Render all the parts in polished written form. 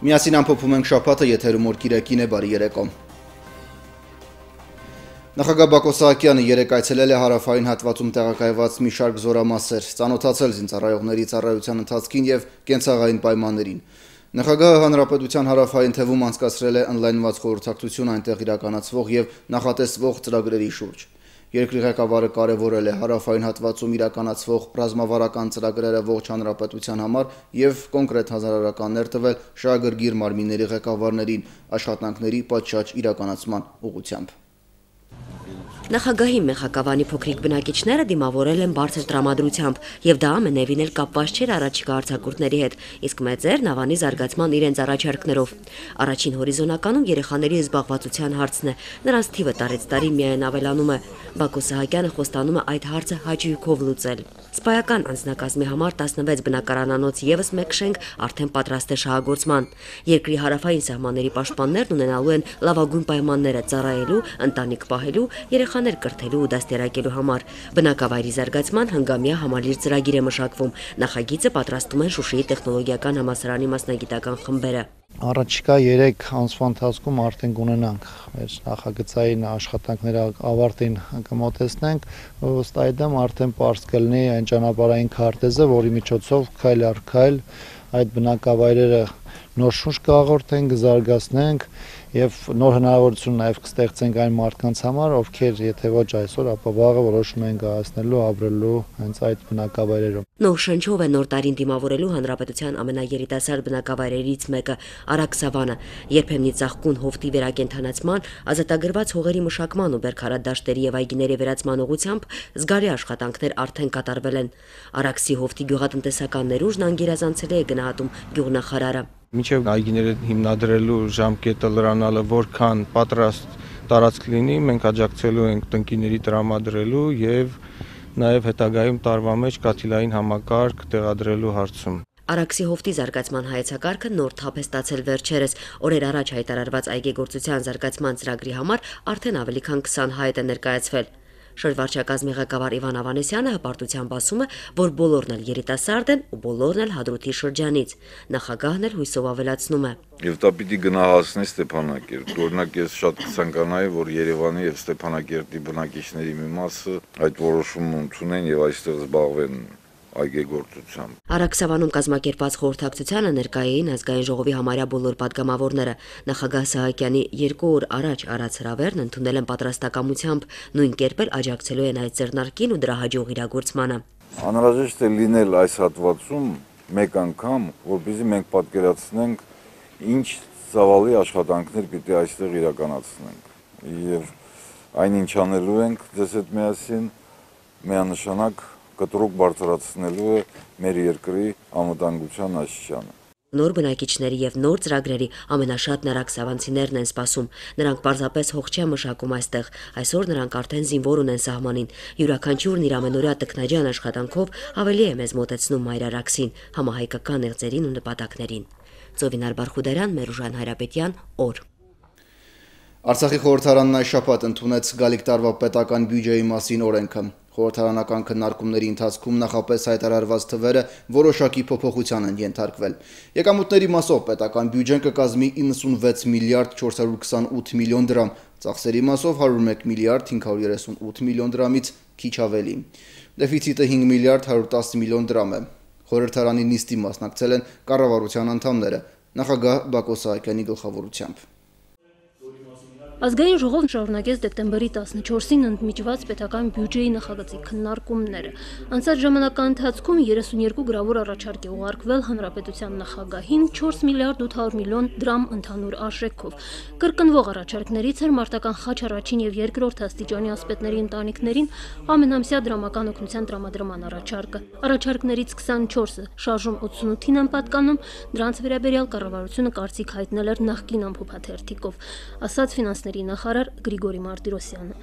Միասին ամփոփում ենք շաբաթը, եթերում օր կիրակին է, բարի երեկո։ Նախագահ Բակո Սահակյանը երեկ այցելել է հարավային հատվածում տեղակայված մի շարք զորամասեր, ծանոթացել զինծառայողների ծառայության ընթացքին եւ կենցաղային պայմաններին։ Նախագահը հանրապետության հարավային թևում անցկացրել է ընդլայնված խորհրդակցություն այնտեղ իրականացվող եւ նախատեսվող ծրագրերի շուրջ։ Երկրի ղեկավարը կարևորել է հարավային հատվածում իրականացվող ռազմավարական ծրագրերը ողջ հանրապետության համար եւ կոնկրետ հանրարարականներ տվել շահագրգիռ մարմինների ղեկավարներին աշխատանքների պատշաճ իրականացման ուղղությամբ։ Նախագահի մեխակավանի փոքրիկ բնակիչները դիմավորել են բարձր տրամադրությամբ եւ դա ամենևին էլ կապված չէր առաջիկա արձակուրդների հետ, իսկ մեծերն ավանի զարգացման իրենց առաջարկներով։ Առաջին հորիզոնականում երեխաների զբաղվածության հարցն է, նրանց թիվը տարեց տարի միայն ավելանում է։ Բակո Սահակյանը խոստանում է այդ հարցը հաճույքով լուծել։ Սպայական անձնակազմի համար 16 բնակարանանոց եւս մեկ շենք արդեն պատրաստ է շահագործման։ Երկրի հարավային սահմանների պաշտպաններն ունենալու են լավագույն պայմանները ծառայելու, ընտանիք պահելու, երեխաներ կրթելու ու դաստիարակելու համար։ Բնակավայրի զարգացման հնգամյա համալիր ծրագիր է մշակվում։ Նախագիծը պատրաստում են Շուշիի տեխնոլոգիական համալսարանի մասնագիտական խմբերը։ Առաջիկա 3 ամսվա ընթացքում արդեն կունենանք մեր նախագծային աշխատանքները ավարտին կմոտեցնենք, ըստ այդմ արդեն պարզ կլինի այն ճանապարհային քարտեզը, որի միջոցով քայլ առ քայլ այդ բնակավայրերը նոր շունչ կհաղորդենք, կզարգացնենք եւ նոր հնարավորություն նաեւ կստեղծենք այն մարդկանց համար, ովքեր եթե ոչ այսօր, ապա վաղը որոշում են կայացնելու ապրելու հենց այդ բնակավայրերում։ Նոր շնչով է նոր տարին դիմավորելու հանրապետության ամենաերիտասարդ բնակավայրերից մեկը Արաքսավանը, երբեմնի ծաղկուն հովտի վերակենդանացման, ազատագրված հողերի մշակման ու բերքարադաշտերի եւ այգիների վերացման ուղղությամբ զգալի աշխատանքներ արդեն կատարվել են։ Արաքսի հովտի գյուղատնտեսական ներուժն անգերազանցել է գնահատում գյուղնախարարը։ Մինչև այգիները հիմնադրելու ժամկետը լրանալը որքան պատրաստ տարածք լինի, մենք աջակցելու ենք տնկիների տրամադրելու եւ նաեւ հետագայում տարվա մեջ կաթիլային համակարգ տեղադրելու հարցում։ Արաքսի հովտի զարգացման հայեցակարգը նոր թափ է ստացել վերջերս։ Օրեր առաջ հայտարարված այգեգործության զարգացման ծրագրի համար արդեն ավելի քան 20 հայտ է ներկայացվել։ Շրջվարչակազմի ղեկավար Իվան Ավանեսյանը հպարտությամբ ասում է, որ բոլորն էլ երիտասարդ են ու բոլորն էլ Հադրութի շրջանից։ Նախագահն էլ հույսով ավելացնում է. Եվ դա պիտի գնահատի Ստեփանակերտ։ Օրինակ ես շատ կցանկանայի, որ Երևանի եւ Ստեփանակերտի բնակիչների մի մասը այդ որոշումը ունեն եւ այստեղ զբաղվեն այգեգործությամբ։ Արաքսավանում կազմակերպված խորհրդակցությանը ներկայ էին ազգային ժողովի համարյա բոլոր պատգամավորները։ Նախագահ Սահակյանի 2 օր առաջ արած հրավերն ընդունել են պատրաստակամությամբ, նույն կերպ էլ աջակցելու են այդ ձեռնարկին ու դրա հաջող իրագործմանը։ Անհրաժեշտ է լինել այս հատվածում մեկ անգամ, որպեսզի մենք պատկերացնենք ինչ ծավալի աշխատանքներ պիտի այստեղ իրականացնենք։ Եվ այնինչ անելու ենք ձեզ հետ միասին միանշանակ կտրուկ բարձրացնելու է մեր երկրի անվտանգության աստիճանը։ Նոր բնակիչների եւ նոր ծրագրերի ամենաշատն արաքսավանցիներն են սպասում։ Նրանք պարզապես հող չեն մշակում այստեղ։ Այսօր նրանք արդեն զինվոր ունեն սահմանին։ Յուրաքանչյուրն իր ամենօրյա տքնաջան աշխատանքով ավելի է մեզ մոտեցնում Մայրարաքսին, համահայկական եղձերին ու նպատակներին։ Ծովինար Բարխուդարյան, Մերուժան Հայրապետյան, օր։ Արցախի խորհրդարանն այս շաբաթ ընդունեց գալիք տարվա պետական բյուջեի մասին օրենքը։ Խորհրդարանական քննարկումների ընթացքում նախապես հայտարարված թվերը որոշակի փոփոխության են ենթարկվել։ Եկամուտների մասով պետական բյուջեն կկազմի 96 միլիարդ 428 միլիոն դրամ, ծախսերի մասով 101 միլիարդ 538 միլիոն դրամից քիչ ավելի։ Դեֆիցիտը 5 միլիարդ 110 միլիոն դրամ է։ Խորհրդարանի նիստի մասնակցել են կառավարության անդամները, նախագահ Բակո Սահակյանի գլխավորությամբ։ Ազգային ժողովն շարունակեց դեկտեմբերի 14-ին ընդմիջված պետական բյուջեի նախագծի քննարկումները։ Անցած ժամանակահատվածի ընթացքում 32 գրավոր առաջարկ է ուղարկվել հանրապետության նախագահին 4 միլիարդ 800 միլիոն դրամ ընդհանուր արժեքով։ Կրկնվող առաջարկներից էր մարտական խաչ առաջին եւ երկրորդ աստիճանի ասպետների ընտանիքներին ամենամսյա դրամական օգնության տրամադրման առաջարկը։ Առաջարկներից 24-ը շարժում 88-ին են պատկանում, դրանց վերաբերյալ կառավարությունը կարծիք հայտնել էր նախկին ամփոփաթերթիկով։ Ասաց ֆինանսների ֆինանսների նախարար Գրիգորի Մարտիրոսյանը։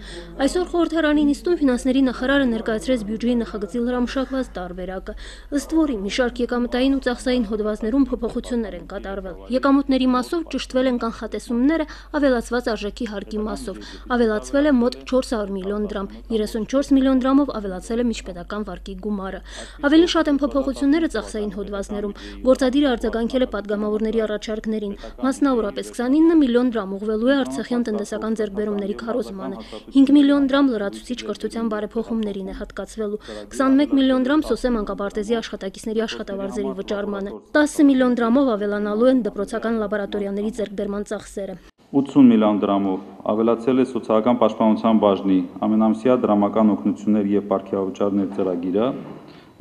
Այսօր խորհրդարանի նիստում ֆինանսների նախարարը ներկայացրեց բյուջեի նախագծի լրամշակված տարբերակը, ըստ որի մի շարք եկամտային ու ծախսային հոդվածներում փոփոխություններ են կատարվել։ Եկամուտների մասով ճշտվել են կանխատեսումները ավելացված արժեքի հարկի մասով, ավելացվել է մոտ 400 միլիոն դրամ, 34 միլիոն դրամով ավելացել է միջպետական վարկի գումարը։ Ավելի շատ են փոփոխությունները ծախսային հոդվածներում։ Գործադիրը արձագանքել է падգամավորների առաջարկներին, մասնավորապես 29 միլիոն դրամ ուղղվելու է արցախյան տնտեսական ձեռքբերումների քարոզմանը, 5 միլիոն դրամ լրացուցիչ կրթության բարեփոխումներին է հատկացվելու, 21 միլիոն դրամ Սոսե մանկապարտեզի աշխատակիցների աշխատավարձերի վճարմանը, 10 միլիոն դրամով ավելանալու են դպրոցական լաբորատորիաների ձեռքբերման ծախսերը։ 80 միլիոն դրամով ավելացել է սոցիալական պաշտպանության բաժնի ամենամսյա դրամական օգնություններ եւ պարգևավճարներ ծրագիրը,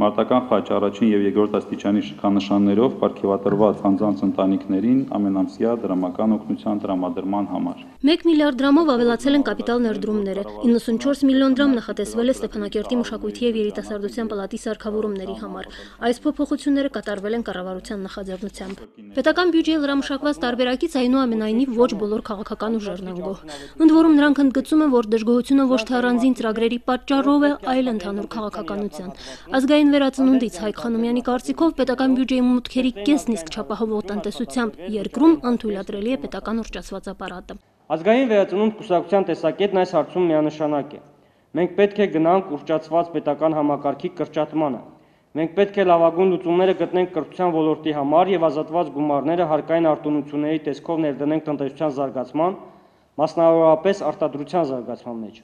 մարտական խաչ առաջին եւ երկրորդ աստիճանի շքանշաններով պարգևատրված անձանց ընտանիքներին ամենամսյա դրամական օգնության տրամադրման համար։ 1 միլիարդ դրամով ավելացել են կապիտալ ներդրումները, 94 միլիոն դրամ նախատեսվել է Ստեփանակերտի մշակույթի եւ երիտասարդության պալատի սարքավորումների համար։ Այս փոփոխությունները կատարվել են կառավարության նախաձեռնությամբ։ Պետական բյուջեի լրամշակված տարբերակից այնուամենայնիվ ոչ բոլոր քաղաքական ուժերն են գոհ։ Ընդ որում նրանք ընդգծում են, որ դժգոհությունը ոչ թե առանձին ծրագրերի պատճառով է, այլ ընդհանուր քաղաքականության։ Ազգային վերածնունդից Հայկ Խանոմյանի կարծիքով պետական բյուջեի մուտքերի կեսն իսկ չափահովող տնտեսությամբ երկրում անթույլատրելի է պետական ուռճացված ապարատը։ Ազգային վերածնունդ կուսակցության տեսակետն այս հարցում միանշանակ է։ Մենք պետք է գնանք ուռճացված պետական համակարգի կրճատմանը։ Մենք պետք է լավագույն լուծումները գտնենք կրթության ոլորտի համար եւ ազատված գումարները հարկային արտոնությունների տեսքով ներդնենք տնտեսության զարգացման, մասնավորապես արտադրության զարգացման մեջ։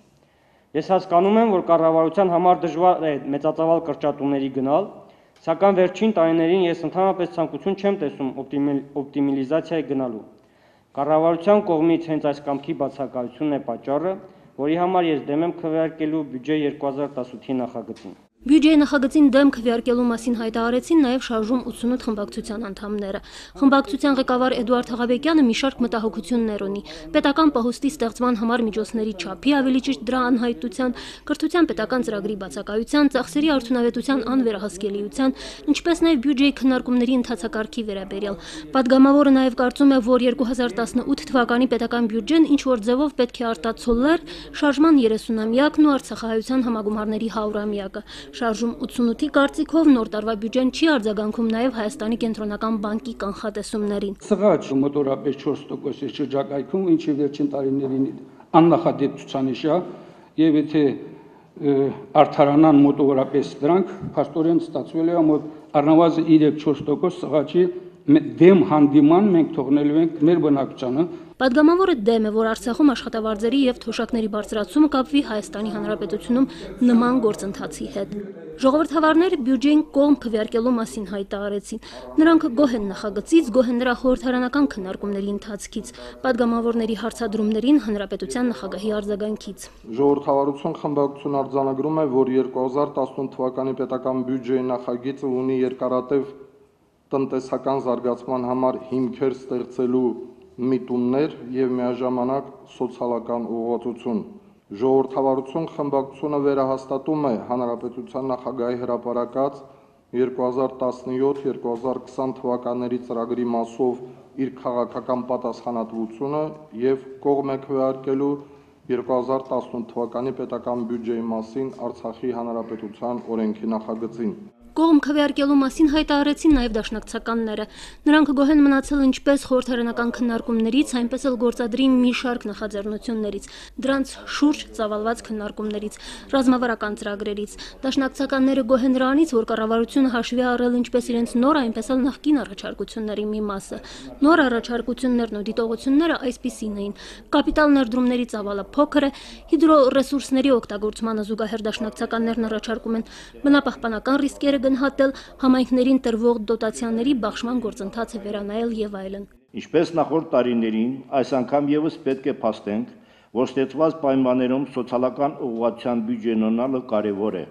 Ես հասկանում եմ, որ կառավարության համար դժվար է մեծածավալ կրճատումների գնալ, սակայն վերջին տարիներին ես ընդհանրապես ցանկություն չեմ տեսնում օպտիմիզացիայի գնալու։ Կառավարության կողմից հենց այս կամքի բացակայությունն է պատճառը, որի համար ես դեմ եմ քվեարկելու բյուջե 2018-ի նախագծին։ Բյուջեի նախագծին դեմ քվեարկելու մասին հայտարարեցին նաև շարժում 88 խմբակցության անդամները։ Խմբակցության ղեկավար Էդուարդ Հաղաբեկյանը մի շարք մտահոգություններ ունի։ Պետական պահոստի ստեղծման համար միջոցների չափի, ավելի ճիշտ դրա անհայտության, կրթության պետական ծրագրի բացակայության, ծախսերի արդյունավետության անվերահսկելիության, ինչպես նաև բյուջեի քննարկումների ընթացակարգի վերաբերյալ։ Պատգամավորը նաև կարծում է, որ 2018 թվականի պետական բյուջեն ինչ որ ձևով պետք է արտացոլեր շարժման 30-ամյակն ու Արցախահայության համագումարների 100-ամյակը։ Շարժում 88-ի կարծիքով նոր տարվա բյուջեն չի արձագանքում նաև Հայաստանի կենտրոնական բանկի կանխատեսումներին։ Սղաճ մոտորապես 4%-ի շրջակայքում, ինչի վերջին տարիներին աննախադեպ ցուցանիշ է, եւ եթե արդարանան մոտորապես դրանք, փաստորեն ստացվել է մոտ առնվազն 3-4% սղաճի դեմ հանդիման մենք թողնելու ենք մեր բնակչությանը։ Պատգամավորը դեմ է, որ Արցախում աշխատավարձերի եւ թոշակների բարձրացումը կապվի Հայաստանի Հանրապետությունում նման գործընթացի հետ։ Ժողովրդավարները բյուջեին կողմ քվեարկելու մասին հայտարարեցին։ Նրանք գոհ են նախագծից, գոհ են նրա խորհրդարանական քննարկումների ընթացքից, պատգամավորների հարցադրումներին Հանրապետության նախագահի արձագանքից։ Ժողովրդավարություն խմբակցություն արձանագրում է, որ 2018 թվականի պետական բյուջեի նախագիծը ունի երկարատև տնտեսական զարգացման համար հիմքեր ստեղծելու միտումներ եւ միաժամանակ սոցիալական ուղղվածություն։ Ժողովրդավարություն խմբակցությունը վերահաստատում է Հանրապետության նախագահի հրապարակած 2017-2020 թվականների ծրագրի մասով իր քաղաքական պատասխանատվությունը եւ կողմ է քվեարկելու 2018 թվականի պետական բյուջեի մասին Արցախի Հանրապետության օրենքի նախագծին։ Կողմ քվեարկելու մասին հայտարարեցին նաև դաշնակցականները։ Նրանք գոհ են մնացել ինչպես խորհրդարանական քննարկումներից, այնպես էլ գործադրի մի շարք նախաձեռնություններից, դրանց շուրջ ծավալված քննարկումներից, ռազմավարական ծրագրերից։ Դաշնակցականները գոհ են նրանից, որ կառավարությունը հաշվի առել ինչպես իրենց նոր, այնպես էլ նախկին առաջարկությունների մի մասը։ Նոր առաջարկություններն ու դիտողությունները այսպիսին էին. կապիտալ ներդրումների ծավալը փոքր է, հիդրոռեսուրսների օգտագործմանը զուգահեռ դաշնակցականներն առաջարկում են բնապահպանական ռիսկերը գնահատել, համայնքներին տրվող դոտացիաների բաշխման գործընթացը վերանայել եւ այլն։ Ինչպես նախորդ տարիներին, այս անգամ եւս պետք է փաստենք, որ ստեղծված պայմաններում սոցիալական ուղղվածության բյուջեն ունենալը կարևոր է։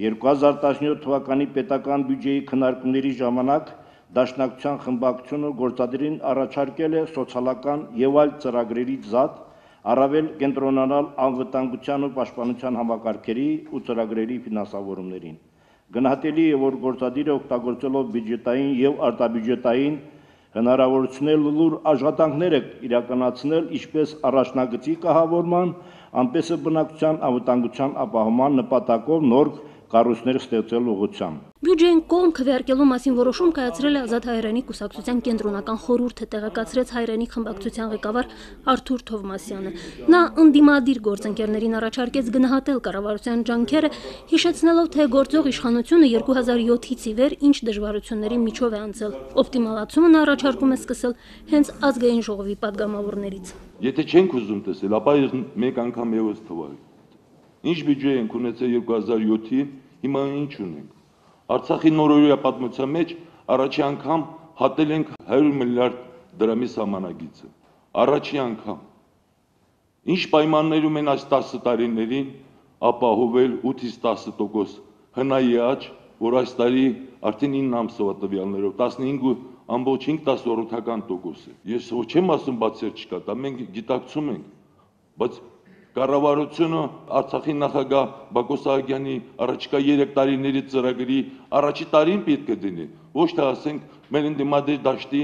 2017 թվականի պետական բյուջեի քննարկումների ժամանակ Դաշնակցության խմբակցությունը գործադրին առաջարկել է սոցիալական եւ այլ ծրագրերի զատ առավել կենտրոնանալ անվտանգության ու պաշտպանության համակարգերի ու ծրագրերի ֆինանսավորումներին։ Գնահատելի է, որ գործադիրը օգտագործելով բյուջետային եւ արտաբյուջետային հնարավորություններ լուր աշխատանքներ է իրականացնել ինչպես առաջնագծի կահավորման, այնպես էլ բնակության անվտանգության ապահովման նպատակով նոր կառույցներ ստեղծելու ուղղությամբ։ Բյուջեին կողմ քվեարկելու մասին որոշում կայացրել է Ազատ հայրենի կուսակցության կենտրոնական խորհուրդը, տեղեկացրեց հայրենի խմբակցության ղեկավար Արթուր Թովմասյանը։ Նա ընդդիմադիր գործընկերներին առաջարկեց գնահատել կառավարության ջանքերը, հիշեցնելով, թե գործող իշխանությունը 2007-ից ի վեր ինչ դժվարությունների միջով է անցել։ Օպտիմալացումը նա առաջարկում է սկսել հենց ազգային ժողովի падգամավորներից։ Եթե չենք ուզում տեսել, ապա մեկ անգամ եւս թվարկենք։ Ինչ բյուջե ենք ունեցել 2007-ին, հիմա ինչ ունենք։ Արցախի նորօրյա պատմության մեջ առաջի անգամ հատել ենք 100 միլիարդ դրամի սահմանագիծը։ Առաջի անգամ։ Ինչ պայմաններում են այս 10 տարիներին ապահովել 8-ից 10% հնայի աճ, որ այս տարի արդեն 9 ամսվա տվյալներով 15.5% է։ Ես ոչ չեմ ասում բացեր չկա, դա մենք գիտակցում ենք, բայց կառավարությունը Արցախի նախագահ Բակո Սահակյանի առաջիկա 3 տարիների ծրագրի առաջի տարին պետք է դնի, ոչ թե ասենք մեր ընդդիմադիր դաշտի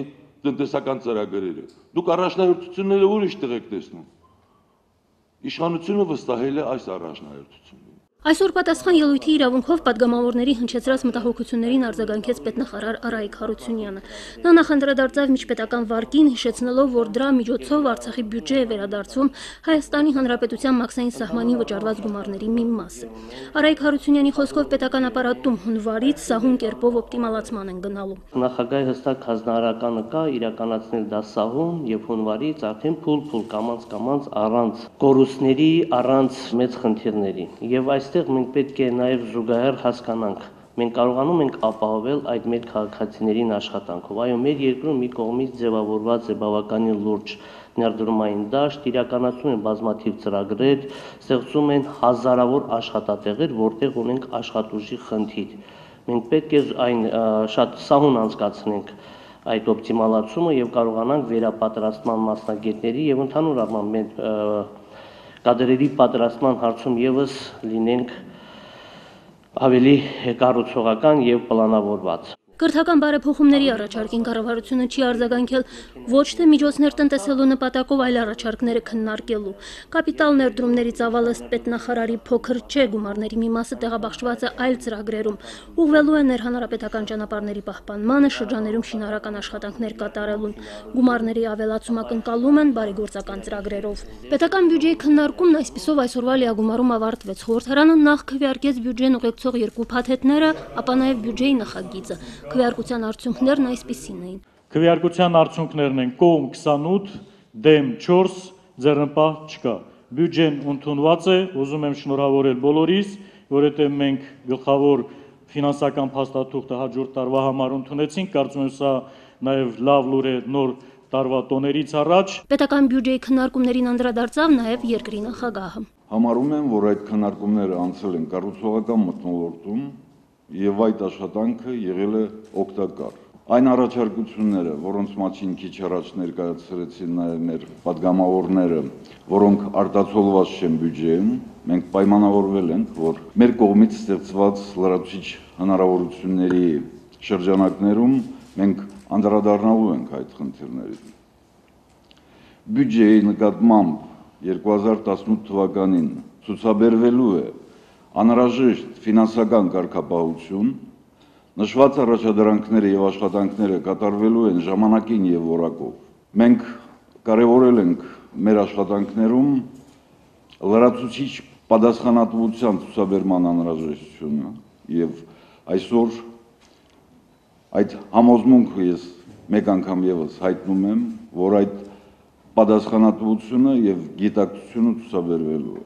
տնտեսական ծրագրերը։ Դուք առաջնահերթությունները ուրիշ տեղ եք տեսնում։ Իշխանությունը վստահել է այս առաջնահերթություններին։ Այսօր պատասխան ելույթի իրավունքով падգամավորների հնչեցրած մտահոգություններին արձագանքեց պետնախարար Արայիկ Հարությունյանը։ Նա նախանդրադարձավ միջպետական վարկին, հիշեցնելով, որ դրա միջոցով Արցախի բյուջե է վերադարձվում Հայաստանի Հանրապետության մաքսային սահմանին վճարված գումարների մի մասը։ Արայիկ Հարությունյանի խոսքով պետական ապարատում հունվարից սահուն կերպով օպտիմալացման են գնալու։ Նախագահի հստակ հանձնարարականը կա իրականացնել դա սահուն եւ հունվարից արդեն փուլ կամած առանց կորուստների, առանց մեծ խնդիրների։ Եվ այստեղ մենք պետք է նաև զուգահեռ հասկանանք, մենք կարողանում ենք ապահովել այդ մեր քաղաքացիներին աշխատանքով։ Այո, մեր երկրում մի կողմից ձևավորված է բավականին լուրջ ներդրումային դաշտ, իրականացում են բազմաթիվ ծրագրեր, ստեղծում են հազարավոր աշխատատեղեր, որտեղ ունենք աշխատուժի խնդիր։ Մենք պետք է այն շատ սահուն անցկացնենք այդ օպտիմալացումը եւ կարողանանք վերապատրաստման մասնագետների եւ ընդհանուր առմամբ կադրերի պատրաստման հարցում եւս լինենք ավելի կառուցողական եւ պլանավորված։ Կրթական բարեփոխումների առաջարկին կառավարությունը չի արձագանքել ոչ թե միջոցներ տնտեսելու նպատակով, այլ առաջարկները քննարկելու։ Կապիտալ ներդրումների ծավալը պետնախարարի փոքր չէ, գումարների մի մասը տեղաբաշխված է այլ ծրագրերում։ Ուղղվելու է ներհանրապետական ճանապարհների պահպանմանը, շրջաներում շինարարական աշխատանքներ կատարելուն։ Գումարների ավելացում ակնկալում են բարեգործական ծրագրերով։ Պետական բյուջեի քննարկումն այսպիսով այսօրվա լիագումարում ավարտվեց։ Խորհրդարանը նախ քվեարկեց բյուջեն ուղեկցող երկու փաթեթները, ապա նաև բյուջեի նախագիծը։ Քվեարկության արդյունքներն այսպիսին էին։ Քվեարկության արդյունքներն են կողմ 28, դեմ 4, ձեռնպահ չկա։ Բյուջեն ընդունված է, ուզում եմ շնորհավորել բոլորիս, որովհետև մենք գլխավոր ֆինանսական փաստաթուղթը հաջորդ տարվա համար ընդունեցինք, կարծում եմ սա նաև լավ լուր է նոր տարվա տոներից առաջ։ Պետական բյուջեի քննարկումներին անդրադարձավ նաև երկրի նախագահը։ Համարում եմ, որ այդ քննարկումները անցել են կառուցողական մթնոլորտում եւ այդ աշխատանքը եղել է օգտակար։ Այն առաջարկությունները, որոնց մասին քիչ առաջ ներկայացրեցին նաև մեր падգամավորները, որոնք արտացոլված չեն բյուջեում, մենք պայմանավորվել ենք, որ մեր կողմից ստեղծված լրացուցիչ հնարավորությունների շրջանակներում մենք անդրադառնալու ենք այդ խնդիրներին։ Բյուջեի նկատմամբ 2018 թվականին ցուցաբերվելու է անհրաժեշտ ֆինանսական կարգապահություն, նշված առաջադրանքները եւ աշխատանքները կատարվելու են ժամանակին եւ որակով։ Մենք կարևորել ենք մեր աշխատանքներում լրացուցիչ պատասխանատվության ցուցաբերման անհրաժեշտությունը եւ այսօր այդ համոզմունքը ես մեկ անգամ եւս հայտնում եմ, որ այդ պատասխանատվությունը եւ գիտակցությունը ցուցաբերվելու է։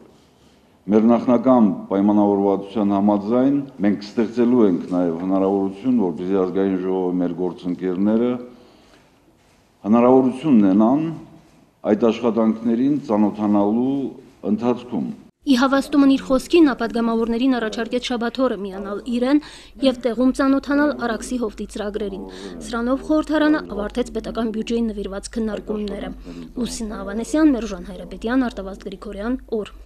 Մեր նախնական պայմանավորվածության համաձայն մենք ստեղծելու ենք նաև հնարավորություն, որպեսզի ազգային ժողովի մեր գործընկերները հնարավորություն ունենան այդ աշխատանքներին ծանոթանալու ընթացքում։ Ի հավաստումն իր խոսքին նա падգամավորներին առաջարկեց շաբաթ օրը միանալ իրեն եւ տեղում ծանոթանալ Արաքսի հովտի ծրագրերին։ Սրանով խորհրդարանը ավարտեց պետական բյուջեին նվիրված քննարկումները։ Լուսինա Ավանեսյան, Մերժան Հայրապետյան, Արտավազդ Գրիգորյան, օր։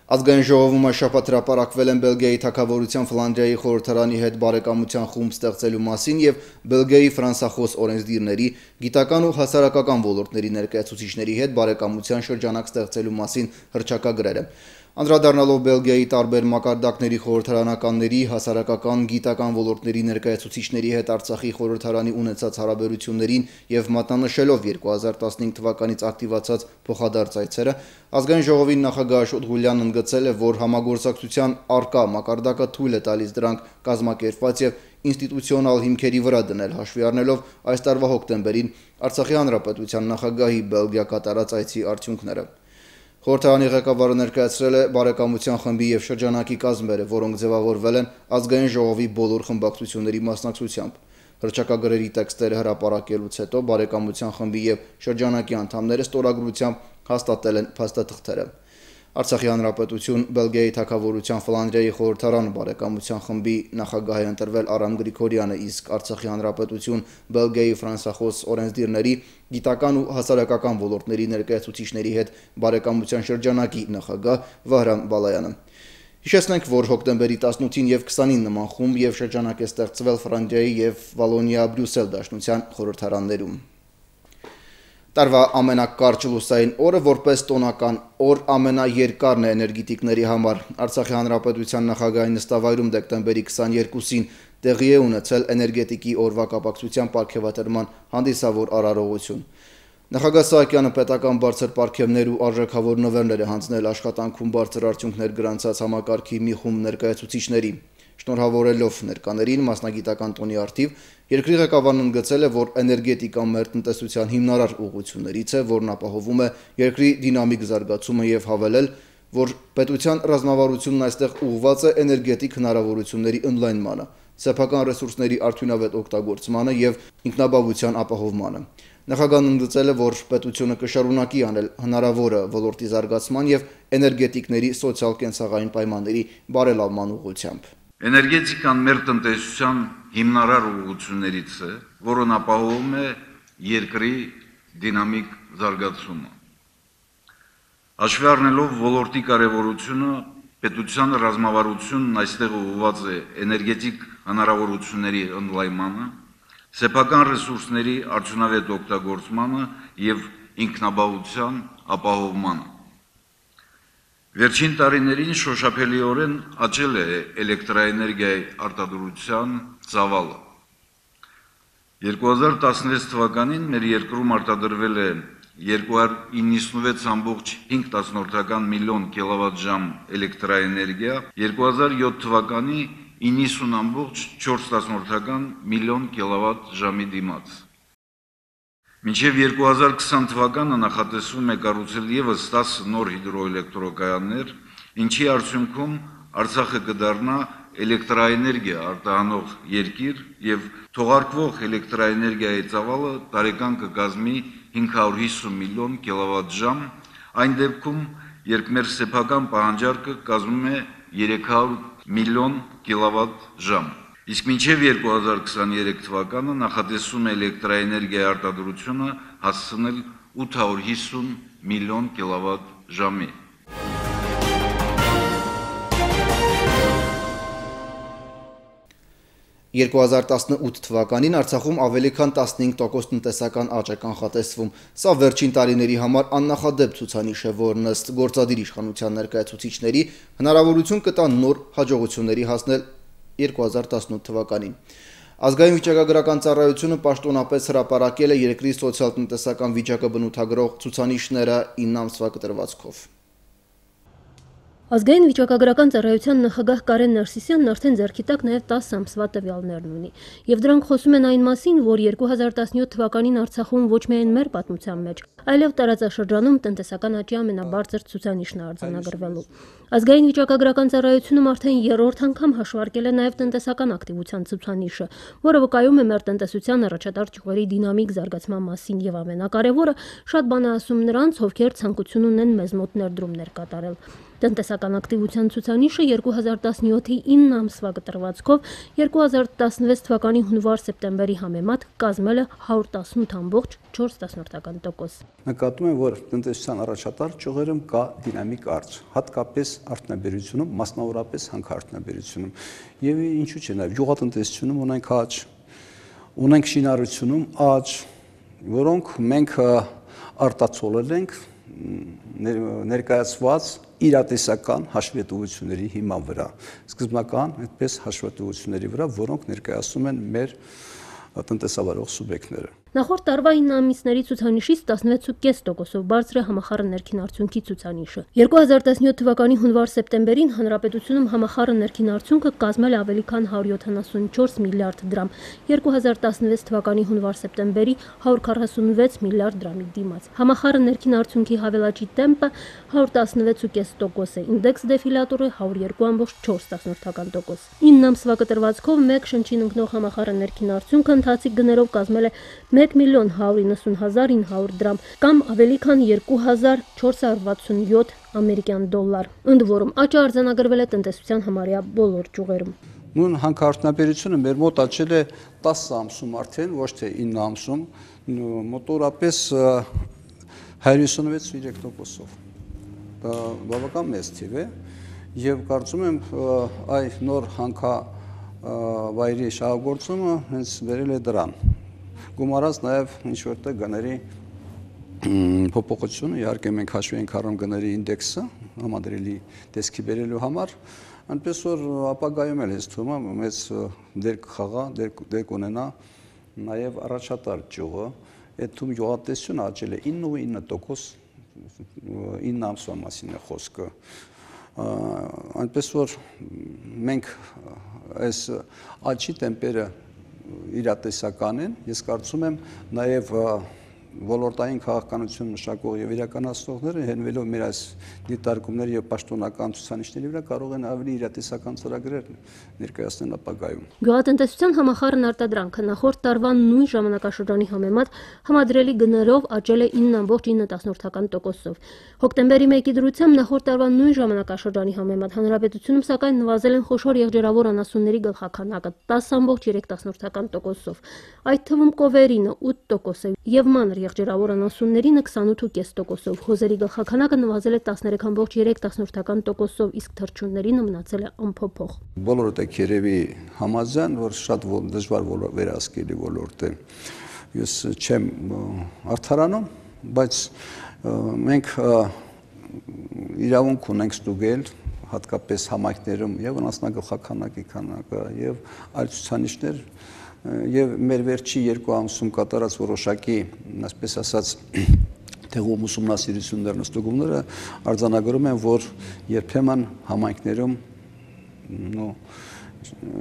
Ազգային ժողովում շաբաթ հրապարակվել են Բելգիայի թագավորության Ֆլանդրիայի խորհրդարանի հետ բարեկամության խումբ ստեղծելու մասին եւ Բելգիայի ֆրանսախոս օրենսդիրների, գիտական ու հասարակական ոլորտների ներկայացուցիչների հետ բարեկամության շրջանակ ստեղծելու մասին հռչակագրերը։ Անդրադառնալով Բելգիայի տարբեր մակարդակների խորհրդարանականների, հասարակական, գիտական ոլորտների ներկայացուցիչների հետ Արցախի խորհրդարանի ունեցած հարաբերություններին եւ մատնանշելով 2015 թվականից ակտիվացած փոխադարձ այցերը, ազգային ժողովի նախագահ Աշոտ Ղուլյանն ընդգծել է, որ համագործակցության արկա մակարդակը թույլ է տալիս դրանք կազմակերպված եւ ինստիտուցիոնալ հիմքերի վրա դնել, հաշվի առնելով այս տարվա հոկտեմբերին Արցախի հանրապետության նախագահի Բելգիա կատարած այցի արդյունքները։ Խորհրդարանի ղեկավարը ներկայացրել է բարեկամության խմբի եւ շրջանակի կազմերը, որոնք ձևավորվել են ազգային ժողովի բոլոր խմբակցությունների մասնակցությամբ։ Հռչակագրերի տեքստերը հրապարակելուց հետո բարեկամության խմբի եւ շրջանակի անդամները ստորագրությամբ հաստատել են փաստաթղթերը։ Արցախի հանրապետություն Բելգիայի թագավորության Ֆլանդրիայի խորհրդարան բարեկամության խմբի նախագահ է ընտրվել Արամ Գրիգորյանը, իսկ Արցախի հանրապետություն Բելգիայի ֆրանսախոս օրենսդիրների, գիտական ու հասարակական ոլորտների ներկայացուցիչների հետ բարեկամության շրջանակի նախագահ Վահրամ Բալայանը։ Հիշեցնենք, որ հոկտեմբերի 18-ին եւ 29 նման խումբ եւ շրջանակ է ստեղծվել Ֆրանսիայի եւ Վալոնիա-Բրյուսել դաշնության խորհրդարաններում։ Տարվա ամենակարճ լուսային օրը որպես տոնական օր ամենաերկարն է էներգետիկների համար։ Արցախի հանրապետության նախագահի նստավայրում դեկտեմբերի 22-ին տեղի է ունեցել էներգետիկի օրվա կապակցության պարգևատրման հանդիսավոր արարողություն։ Նախագահ Սահակյանը պետական բարձր պարգևներ ու արժեքավոր նվերներ է հանձնել աշխատանքում բարձր արդյունքներ գրանցած համակարգի մի խումբ ներկայացուցիչների։ Շնորհավորելով ներկաներին մասնագիտական տոնի արդիվ, երկրի ղեկավարն ընդգծել է, որ էներգետիկան մեր տնտեսության հիմնարար ուղղություններից է, որն ապահովում է երկրի դինամիկ զարգացումը եւ հավելել, որ պետության ռազմավարությունն այստեղ ուղղված է էներգետիկ հնարավորությունների ընդլայնմանը, սեփական ռեսուրսների արդյունավետ օգտագործմանը եւ ինքնաբավության ապահովմանը։ Նախագահն ընդգծել է, որ պետությունը կշարունակի անել հնարավորը ոլորտի զարգացման եւ էներգետիկների սոցիալ-կենցաղային պայմանների բարելավման ուղղությամբ։ Էներգետիկան մեր տնտեսության հիմնարար ուղղություններից է, որն ապահովում է երկրի դինամիկ զարգացումը։ Հաշվի առնելով ոլորտի կարևորությունը, պետության ռազմավարությունն այստեղ ուղղված է էներգետիկ հնարավորությունների ընդլայնմանը, սեփական ռեսուրսների արդյունավետ օգտագործմանը եւ ինքնաբավության ապահովմանը։ Վերջին տարիներին շոշափելիորեն աճել է էլեկտրաէներգիայի արտադրության ծավալը։ 2016 թվականին մեր երկրում արտադրվել է 296.5 միլիոն կիլովատժամ էլեկտրաէներգիա, 2007 թվականի 90.4 միլիոն կիլովատժամի դիմաց։ Մինչև 2020 թվականը նախատեսվում է կառուցել ևս 10 նոր հիդրոէլեկտրակայաններ, ինչի արդյունքում Արցախը կդառնա էլեկտրաէներգիա արտահանող երկիր եւ թողարկվող էլեկտրաէներգիայի ծավալը տարեկան կկազմի 550 միլիոն կիլովատժամ, այն դեպքում, երբ մեր սեփական պահանջարկը կազմում է 300 միլիոն կիլովատժամ։ Իսկ մինչև 2023 թվականը նախատեսվում է էլեկտրաէներգիայի արտադրությունը հասցնել 850 միլիոն կիլովատժամի։ Եվ 2018 թվականին Արցախում ավելի քան 15% տնտեսական աճ է կանխատեսվում։ Սա վերջին տարիների համար աննախադեպ ցուցանիշ է, որն ըստ գործադիր իշխանության ներկայացուցիչների հնարավորություն կտա նոր հաջողությունների հասնել 2018 թվականին։ Ազգային վիճակագրական ծառայությունը պաշտոնապես հրապարակել է երկրի սոցիալ-տնտեսական վիճակը բնութագրող ցուցանիշները 9 ամսվա կտրվածքով։ Ազգային վիճակագրական ծառայության նախագահ Կարեն Նարսիսյանն արդեն ձեռքի տակ նաև 10 ամսվա տվյալներն ունի, եւ դրանք խոսում են այն մասին, որ 2017 թվականին Արցախում ոչ միայն մեր պատմության մեջ, այլև տարածաշրջանում տնտեսական աճի ամենաբարձր ցուցանիշն է արձանագրվելու։ Ազգային վիճակագրական ծառայությունում արդեն երրորդ անգամ հաշվարկել է նաև տնտեսական ակտիվության ցուցանիշը, որը վկայում է մեր տնտեսության առաջատար ճյուղերի դինամիկ զարգացման մասին եւ ամենակարևորը շատ բան է ասում նրանց, ովքեր ցանկություն ունեն մեզ մոտ ներդրումներ կատարել։ Տնտեսական ակտիվության ցուցանիշը 2017-ի 9 ամսվա կտրվածքով 2016 թվականի հունվար-սեպտեմբերի համեմատ կազմել է 118.4%։ Նկատում եմ, որ տնտեսության առաջատար ճյուղերում կա դինամիկ աճ, հատկապես արդյունաբերությունում, մասնավորապես հանքարդյունաբերությունում, եւ ինչու՞ չէ, նաեւ գյուղատնտեսությունում ունենք աճ, ունենք շինարարությունում աճ, որոնք մենք արտացոլել ենք ներկայացված իրատեսական հաշվետվությունների հիման վրա, սկզբնական այդպես հաշվետվությունների վրա, որոնք ներկայացնում են մեր տնտեսավարող սուբյեկտները։ Նախորդ տարվա 9 ամիսների ցուցանիշից 16.5%-ով բարձր է համախառն ներքին արդյունքի ցուցանիշը։ 2017 թվականի հունվար-սեպտեմբերին հանրապետությունում համախառն ներքին արդյունքը կազմել է ավելի քան 174 միլիարդ դրամ, 2016 թվականի հունվար-սեպտեմբերի 146 միլիարդ դրամի դիմաց։ Համախառն ներքին արդյունքի հավելաճի տեմպը 116.5% է, ինդեքս դեֆիլատորը 102.4%։ 9 ամսվա կտրվածքով մեկ շնչին ընկնող համախառն ներքին արդյունքը ընթացիկ գներով կազմել է 1.190.900 դրամ կամ ավելի քան 2467 ամերիկյան դոլար։ Ընդ որում, աճը արձանագրվել է տնտեսության համարյա բոլոր ճյուղերում։ Նույն հանքարդյունաբերությունը մեր մոտ աճել է 10 ամսում արդեն, ոչ թե 9 ամսում, մոտորապես 156.3%-ով։ Դա բավական մեծ թիվ է եւ կարծում եմ այ նոր հանքավայրի շահագործումը հենց վերել է դրան։ Գումարած նաև ինչ-որտեղ գների փոփոխությունը, իհարկե մենք հաշվի ենք առնում գների ինդեքսը համադրելի տեսքի բերելու համար, այնպես որ ապագայում էլ ես թվում է մեծ դեր կխաղա, դեր կունենա նաև առաջատար ճյուղը, այդ թվում գյուղատնտեսությունը աճել է 9.9%, 9 ամսվա մասին է խոսքը, այնպես որ մենք այս աճի տեմպերը իրատեսական են, ես կարծում եմ նաև ոլորտային քաղաքականություն մշակող եւ իրականացնողները հենվելով մեր այս դիտարկումների եւ պաշտոնական ցուցանիշների վրա կարող են ավելի իրատեսական ծրագրեր ներկայացնել ապագայում։ Գյուղատնտեսության համախառն արտադրանքը նախորդ տարվա նույն ժամանակաշրջանի համեմատ համադրելի գներով աճել է 9.9%-ով։ Հոկտեմբերի 1-ի դրությամբ նախորդ տարվա նույն ժամանակաշրջանի համեմատ հանրապետությունում սակայն նվազել են խոշոր եղջերավոր անասունների գլխաքանակը 10.3%-ով, այդ թվում կովերինը 8% եւ մանր եղջերավոր անասուններին 28.5%-ով, հոզերի գլխաքանակը նվազել է 13.3%-ով, իսկ թռչուններին մնացել է անփոփոխ։ Բոլորդ եք երևի համաձայն, որ շատ դժվար վերահսկելի ոլորտ է։ Ես չեմ արդարանում, բայց մենք իրավունք ունենք ստուգել հատկապես համայնքներում եւ անասնագլխաքանակի քանակը եւ այլ ցուցանիշներ եւ մեր վերջի 2 ամսում կատարած որոշակի, այսպես ասած, տեղում ուսումնասիրություններն ու ստուգումները արձանագրում են, որ երբեմն համայնքներում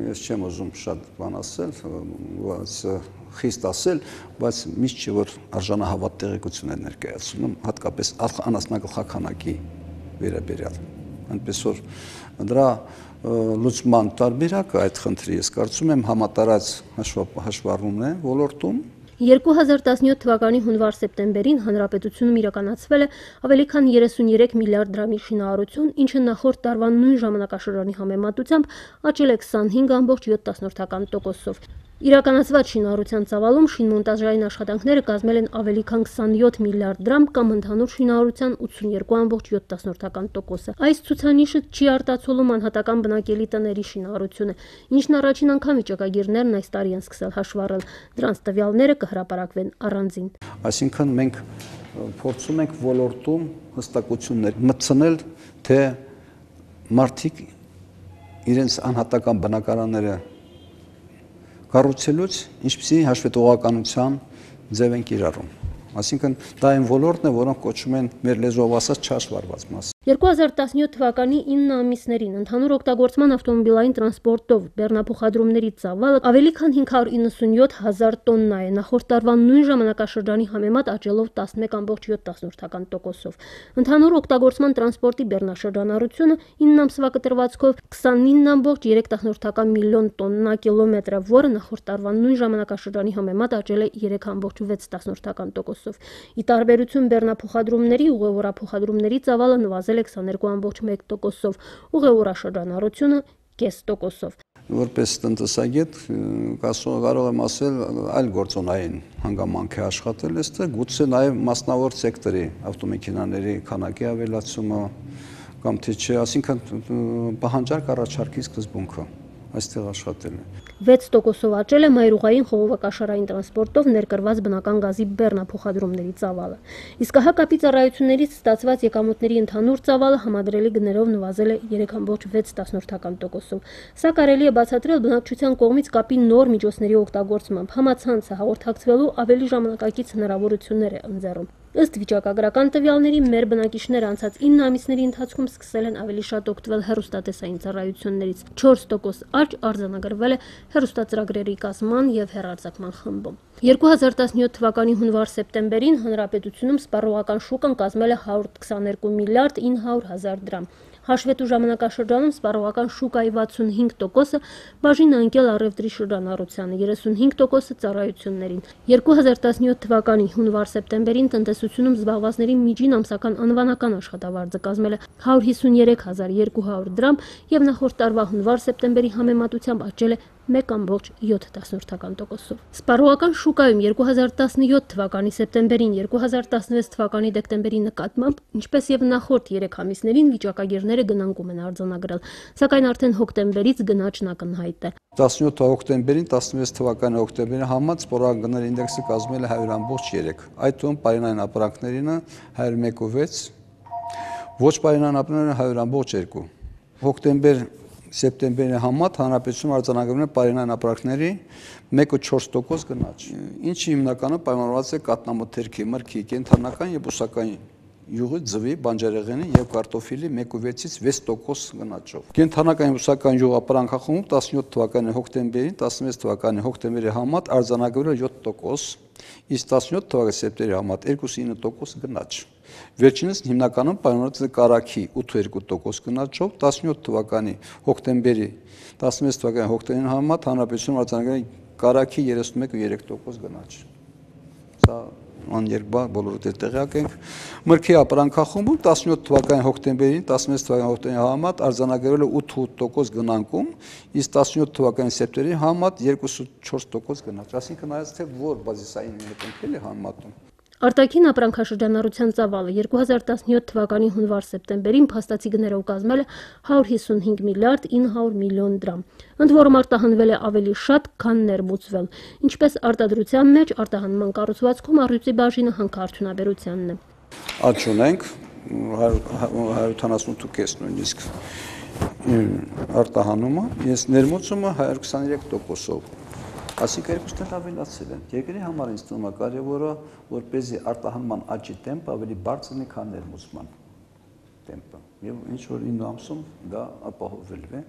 ես չեմ ուզում շատ բան ասել, բայց խիստ ասել, բայց միշտ չէ որ արժանահավատ տեղեկություն է ներկայացնում, հատկապես անասնագլխաքանակի վերաբերյալ։ Այնպես որ դրա լուծման տարբերակը այդ խնդրի ես կարծում եմ համատարած հաշվառումն է ոլորտում։ 2017 թվականի հունվար-սեպտեմբերին հանրապետությունում իրականացվել է ավելի քան 33 միլիարդ դրամի շինարարություն, ինչը նախորդ տարվա նույն ժամանակաշրջանի համեմատությամբ աճել է 25.7%-ով։ Իրականացված շինարարության ծավալում շինմոնտաժային աշխատանքները կազմել են ավելի քան 27 միլիարդ դրամ կամ ընդհանուր շինարարության 82.7%-ը։ Այս ցուցանիշը չի արտացոլում անհատական բնակելի տների շինարարությունը, ինչն առաջին անգամ վիճակագիրներն այս տարի են սկսել հաշվառել։ Դրանց տվյալները կհրապարակվեն առանձին։ Այսինքն մենք փորձում ենք ոլորտում հստակություններ մտցնել, թե մարդիկ իրենց անհատական բնակարանները կառուցելուց ինչպիսի հաշվետվողականության ձև են կիրառում։ Այսինքն դա այն ոլորտն է, որոնք կոչվում են մեր լեզվով ասած չհաշվառված մաս։ 2017 թվականի 9 ամիսներին ընդհանուր օգտագործման ավտոմոբիլային տրանսպորտով բեռնափոխադրումների ծավալը ավելի քան 597,000 տոննա է, նախորդ տարվա նույն ժամանակաշրջանի համեմատ աճելով 11.7%-ով։ Ընդհանուր օգտագործման տրանսպորտի բեռնաշրջանառությունը 9 ամսվա կտրվածքով 29.3 միլիոն տոննա կիլոմետրը, որը նախորդ տարվա նույն ժամանակաշրջանի համեմատ աճել է 3.6%-ով։ Ի տարբերություն բեռնափոխադրումների ուղևորափոխադրումների ծավալը նվազել աճել է 22.1%-ով, ուղևորաշրջանառությունը 0.5%-ով։ Որպես տնտեսագետ կարող եմ ասել այլ գործոնային հանգամանք է աշխատել այստեղ, գուցե նաև մասնավոր սեկտորի ավտոմեքենաների քանակի ավելացումը կամ թե չէ, այսինքն պահանջարկ առաջարկի սկզբունքը այստեղ աշխատել է։ 6%-ով աճել է մայրուղային խողովակաշարային տրանսպորտով ներկրված բնական գազի բեռնափոխադրումների ծավալը։ Իսկ հակապի ծառայություններից ստացված եկամուտների ընդհանուր ծավալը համադրելի գներով նվազել է 3.6%-ով։ Սա կարելի է բացատրել բնակչության կողմից կապի նոր միջոցների օգտագործմամբ, համացանցը հաղորդակցվելու ավելի ժամանակակից հնարավորություններ է ընձեռում։ Ըստ վիճակագրական տվյալների, մեր բնակիչները անցած 9 ամիսների ընթացքում սկսել են ավելի շատ օգտվել հեռուստատեսային ծառայություններից։ 4% աճ արձանագրվել է հեռուստածրագրերի կազմման եւ հեռարձակման խմբում։ 2017 թվականի հունվար-սեպտեմբերին հանրապետությունում սպառողական շուկան կազմել է 122 միլիարդ 900 հազար դրամ։ Հաշվետու ժամանակաշրջանում սպառողական շուկայի 65%-ը բաժին անկել առևտրի շրջանառությանը, 35%-ը ծառայություններին։ 2017 թվականի հունվար-սեպտեմբերին տնտեսությունում զբաղվածների միջին ամսական անվանական աշխատավարձը կազմել է 153.200 դրամ եւ նախորդ տարվա հունվար-սեպտեմբերի համեմատությամբ աճել է 1.7%-ով։ Սպառողական շուկայում 2017 թվականի սեպտեմբերին 2016 թվականի դեկտեմբերի նկատմամբ, ինչպես եւ նախորդ 3 ամիսներին վիճակագիրները գնանկում են արձանագրել, սակայն արդեն հոկտեմբերից գնաճն ակնհայտ է։ 17 հոկտեմբերին 16 թվականի հոկտեմբերի համաձայն սպառողական գների ինդեքսը կազմել է 100.3, այդ թվում պարենային ապրանքներինը 101.6, ոչ պարենային ապրանքները 100.2։ Հոկտեմբեր սեպտեմբերի համաձայն հանրապետությունում արձանագրվել է պարենային ապրանքների 1.4% գնաճ, ինչը հիմնականում պայմանավորված է կաթնամթերքի, մրգի, կենդանական եւ բուսական յուղի, ձվի, բանջարեղենի եւ կարտոֆիլի 1.6-ից 6% գնաճով։ Կենդանական եւ բուսական յուղապրանքախմբում 17 թվականի հոկտեմբերին 16 թվականի հոկտեմբերի համաձայն արձանագրվել է 7%, իսկ 17 թվականի սեպտեմբերի համաձայն 2.9% գնաճ։ Վերջինս հիմնականում պայմանավորված է կարագի 8.2% գնաճով, 17 թվականի հոկտեմբերի 16 թվականի հոկտեմբերի համաձայն հանրապետությունում արձանագրվել է կարագի 31.3% գնաճ։ Սա աներկբա բոլորը տեղյակ ենք։ Մրգի ապրանքախմբում 17 թվականի հոկտեմբերին 16 թվականի հոկտեմբերի համաձայն արձանագրվել է 8% գնանկում, իսկ 17 թվականի սեպտեմբերի համաձայն 2.4% գնաճ։ Այսինքն նայած թե որ բազիսային ունեցել է համատուն։ Արտաքին ապրանքաշրջանառության ծավալը 2017 թվականի հունվար-սեպտեմբերին փաստացի գներով կազմել է 155 միլիարդ 900 միլիոն դրամ, ընդ որում արտահանվել է ավելի շատ, քան ներմուծվել, ինչպես արտադրության մեջ արտահանման կառուցվածքում առյուծի բաժինը հանքարդյունաբերությանն է։ Աճ ունենք 178.5 նույնիսկ արտահանումը, ես ներմուծումը 123%-ով։ Այսինքն երկուսն ավելացել են։ Երկրի համար ինձ թվում է կարևորը, որպեսզի արտահանման աճի տեմպը ավելի բարձր լինի, քան ներմուծման տեմպը։ Եվ ինչ որ 9 ամսում դա ապահովել է։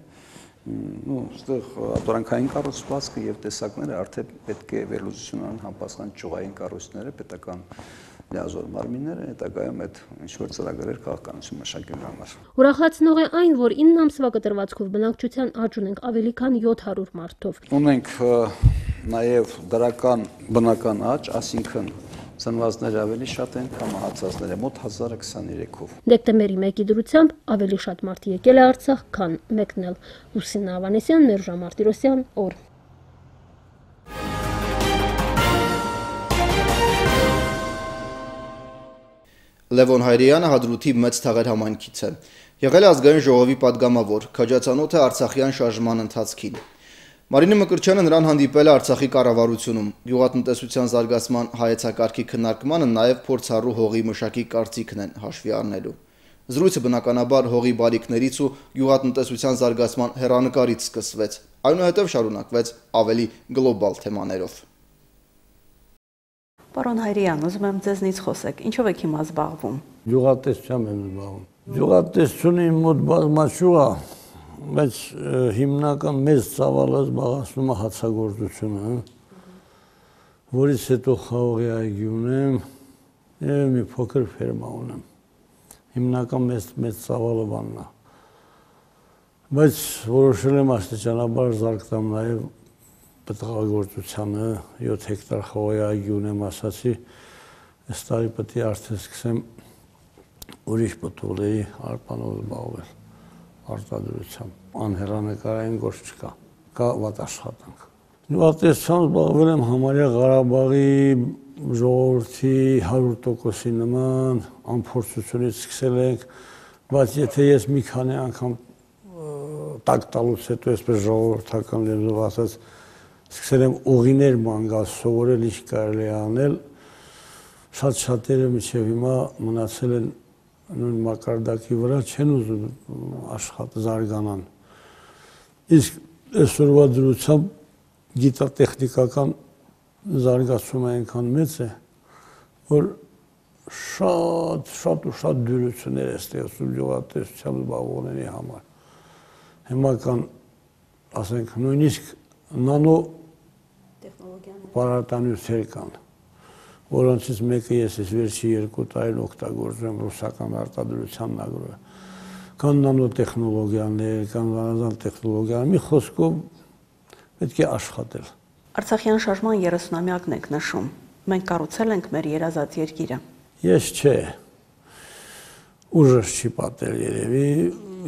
Այստեղ ապրանքային կառուցվածքը եւ տեսակները արդեն պետք է վերլուծություն անեն համապատասխան ճյուղային կառույցները, պետական լիազոր մարմինները, հետագայում այդ ինչ որ ծրագրեր քաղաքականություն մշակելու համար։ Ուրախացնող է այն, որ 9 ամսվա կտրվածքով բնակչության աճ ունենք ավելի քան 700 մարդով։ Ունենք նաև դրական բնական աճ, այսինքն ծնվածները ավելի շատ են, քան մահացածները, մոտ 1023-ով։ Դեկտեմբերի 1-ի դրությամբ ավելի շատ մարդ եկել է Արցախ, քան մեկնել։ Լուսինա Ավանեսյան, Մերժան Մարտիրոսյան, օր։ Լևոն Հայրյանը Հադրութի մեծ թաղեր համայնքից է։ Եղել է ազգային ժողովի պատգամավոր, քաջացանոթ է Արցախյան շարժման ընթացքին։ Մարինե Մկրտչյանը նրան հանդիպել է Արցախի կառավարությունում, գյուղատնտեսության զարգացման հայեցակարգի քննարկմանը նաև փորձառու հողի մշակի կարծիքն են հաշվի առնելու։ Զրույցը բնականաբար հողի բարիքներից ու գյուղատնտեսության զարգացման հեռանկարից սկսվեց, այնուհետև շարունակվեց ավելի գլոբալ թեմաներով։ Պարոն Հայրյան, ուզում եմ ձեզնից խոսեք, ինչով եք հիմա զբաղվում։ Գյուղատնտեսությամբ եմ զբաղվում։ Գյուղատնտեսությունը իմ մոտ բազմաչու է, բայց հիմնական մեծ ծավալը զբաղեցնում է հացագործությունը, որից հետո խաղողի այգի ունեմ եւ մի փոքր ֆերմա ունեմ։ Հիմնական մեծ ծավալը բանն է։ Բայց որոշել եմ աստիճանաբար զարգանամ նաեւ պտղագործությանը, 7 հեկտար խաղողի այգի ունեմ, ասացի, այս տարի պետք է արդեն սկսեմ ուրիշ պտուղների արպանով զբաղվել արտադրությամբ, անհեռանկարային գործ չկա, կա վատ աշխատանք։ Գյուղատնտեսությամբ զբաղվել եմ համարյա Ղարաբաղի ժողովրդի 100%-ի նման անփորձությունից սկսել ենք, բայց եթե ես մի քանի անգամ տակ տալուց հետո այսպես ժողովրդական լեզվով ասած սկսել եմ ուղիներ ման գալ, սովորել ինչ կարելի է անել, շատ-շատերը մինչև հիմա մնացել են նույն մակարդակի վրա, չեն ուզում զարգանան։ Իսկ այսօրվա դրությամբ գիտատեխնիկական զարգացումը այնքան մեծ է, որ շատ դյուրություններ է ստեղծում գյուղատնտեսությամբ զբաղվողների համար։ Հիմա կան, ասենք, նույնիսկ նանո պարարտանյութեր կան, որոնցից մեկը ես վերջի 2 տարին օգտագործում ռուսական արտադրությանն ագրոյ։ Կան նանոտեխնոլոգիաներ, կան զանազան տեխնոլոգիաներ, մի խոսքով պետք է աշխատել։ Արցախյան շարժման 30-ամյակն եք նշում։ Մենք կառուցել ենք մեր երազած երկիրը։ Ես չէ, ուժս չի պատել երևի,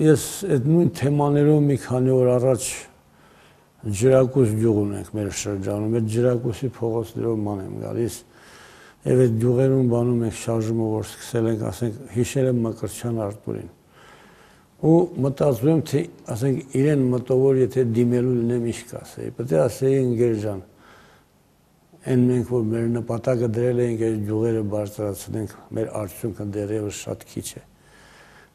ես այդ նույն թեմաներով մի քանի օր առաջ ջրակուս գյուղ ունենք մեր շրջանում, այդ ջրակուսի փողոցներով ման եմ գալիս, եւ այդ գյուղերում բանում ենք շարժումը, որ սկսել ենք, ասենք, հիշել եմ Մկրտչյան Արտուրին։ Ու մտածում եմ, թե, ասենք, իրեն մտավոր, եթե դիմելու լինեմ ինչ կասեի, պետք է ասեի ընկեր ջան, այն մենք, որ մեր նպատակը դրել էինք, այս գյուղերը բարձրացնենք, մեր արդյունքը դեռևս շատ քիչ է։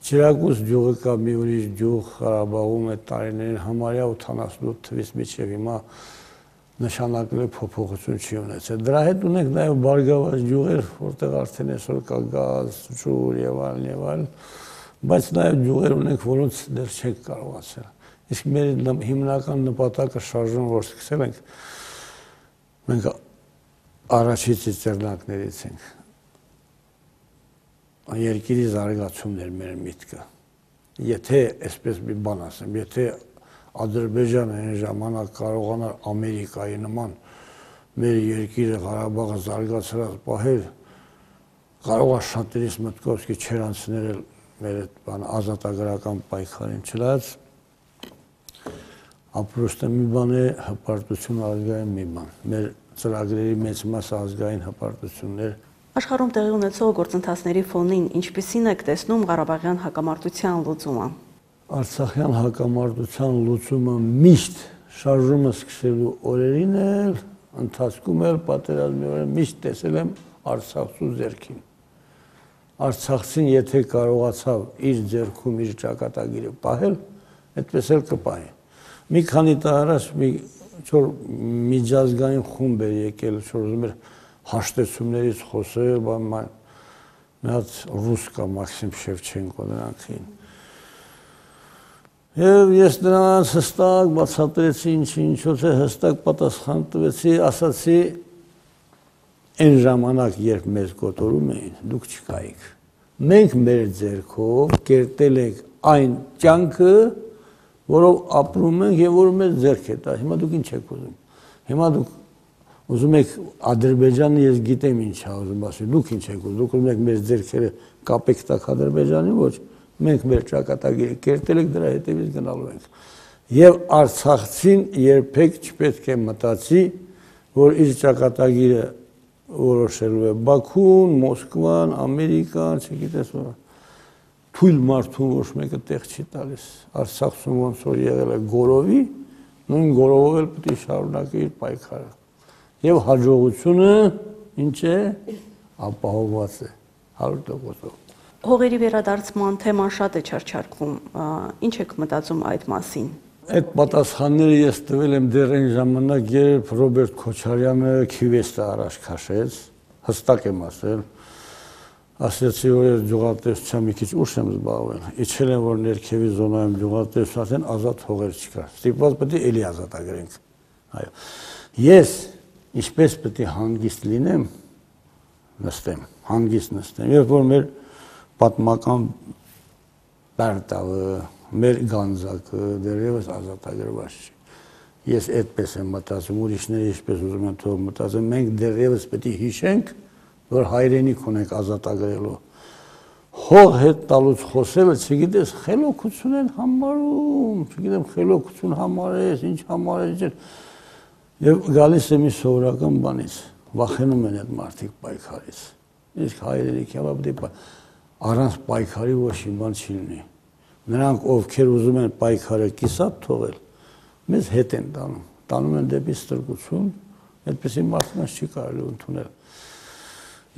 Ջրակուս գյուղը կա մի ուրիշ գյուղ Ղարաբաղում այդ տարիներին համարյա 88 թվից մինչև հիմա նշանակալի փոփոխություն չի ունեցել։ Դրա հետ ունենք նաև բարգավաճ գյուղեր, որտեղ արդեն այսօր կա գազ, ջուր եւ այլն, բայց նաև գյուղեր ունենք, որոնց դեռ չենք կարողացել։ Իսկ մեր հիմնական նպատակը շարժումը, որ սկսել ենք, մենք առաջից ծերնակներից ենք։ Երկիրի զարգացումն էր մեր միտքը։ Եթե, այսպես մի բան ասեմ, եթե Ադրբեջանը այն ժամանակ կարողանար Ամերիկայի նման մեր երկիրը Ղարաբաղը զարգացրած պահել, կարող է շատերիս մտքով չեր անցնել մեր այդ ազատագրական պայքարին, չնայած ապրոստը մի բան է, հպարտություն ազգային մի բան։ Մեր ծրագրերի մեծ մասը ազգային հպարտություններ։ Աշխարհում տեղի ունեցող գործընթացների ֆոնին ինչպիսին եք տեսնում Ղարաբաղյան հակամարտության լուծումը։ Արցախյան հակամարտության լուծումը միշտ շարժումը սկսելու օրերին էլ, ընթացքում էլ պատերազմի օրերին միշտ տեսել եմ Արցախցու ձեռքին։ Արցախցին եթե կարողացավ իր ձեռքում իր ճակատագիրը պահել, այդպես էլ կպահի։ Մի քանի տար առաջ մի միջազգային խումբ էր եկել, ուզում էր հաշտեցումներից խոսել, մի հատ ռուս կա Մաքսիմ Շևչենկո նրանքին։ Եվ ես նրանց հստակ բացատրեցի ինչոց է, հստակ պատասխան տվեցի, ասացի այն ժամանակ, երբ մեզ կոտորում էին, դուք չկայիք։ Մենք մեր ձեռքով կերտել ենք այն կյանքը, որով ապրում ենք եւ որ մեզ ձեռք է տա։ Հիմա դուք ինչ եք ուզում։ Հիմա դուք ուզում եք Ադրբեջանը, ես գիտեմ ինչ է ուզում ասել, դուք ինչ եք ուզում, դուք ուզում եք մեր ձեռքերը կապեք տակ Ադրբեջանի, ոչ, մենք մեր ճակատագիրը կերտել ենք, դրա հետևից գնալու ենք։ Եվ արցախցին երբեք չպետք է մտածի, որ իր ճակատագիրը որոշելու է Բաքուն, Մոսկվան, Ամերիկան, չգիտես որ թույլ մարդուն ոչ մեկը տեղ չի տալիս։ Արցախում ոնց որ եղել է Գորովի, նույն Գորովով էլ պետք է շարունակի իր պայքարը։ Եվ հաջողությունը ինչ է, ապահովված է 100%-ով։ Հողերի վերադարձման թեման շատ է չարչարվում, ինչ եք մտածում այդ մասին։ Այդ պատասխանները ես տվել եմ դեռ այն ժամանակ, երբ Ռոբերտ Քոչարյանը քիվեստը առաջ քաշեց, հստակ եմ ասել, ասեցի, որ ես գյուղատնտեսությամբ մի քիչ ուշ եմ զբաղվել, իջել եմ, որ ներքևի զոնայում գյուղատնտեսության ազատ հողեր չկա, ստիպված պետք է էլի ազատագրենք։ Այո։ Ես ինչպես պետք է հանգիստ լինեմ, նստեմ, հանգիստ նստեմ, երբ որ մեր պատմական Պարտավը, մեր Գանձակը դեռևս ազատագրված չի։ Ես այդպես եմ մտածում, ուրիշները ինչպես ուզում են թող մտածեն, մենք դեռևս պետք է հիշենք, որ հայրենիք ունենք ազատագրելու։ հող հետ տալուց խոսելը, չգիտես, խելոքություն են համարում, չգիտեմ, խելոքություն համարես, ինչ համարես, եւ գալիս է մի սովորական բանից, վախենում են այդ մարդիկ պայքարից։ Իսկ հայրենիքի հավատի առանց պայքարի ոչ մի բան չի լինի։ Նրանք, ովքեր ուզում են պայքարը կիսատ թողել, մեզ հետ են տանում են դեպի ստրկություն, այդպեսի մարդկանց չի կարելի ընդունել։